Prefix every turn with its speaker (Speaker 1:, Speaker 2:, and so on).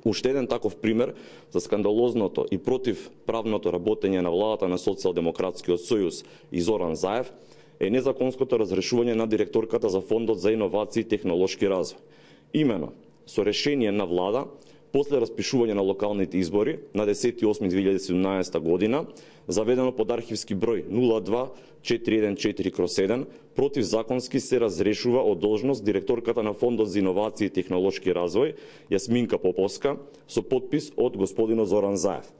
Speaker 1: Уште еден таков пример за скандалозното и противправното работење на владата на Социјалдемократскиот сојуз и Зоран Заев е незаконското разрешување на директорката за Фондот за иновации и технолошки развој. Имено, со решение на влада, после распишување на локалните избори на 10.8.2017 година, заведено под архивски број 02414/7, противзаконски се разрешува од должност директорката на Фондот за иновации и технолошки развој Јасминка Поповска со подпис од господинот Зоран Заев.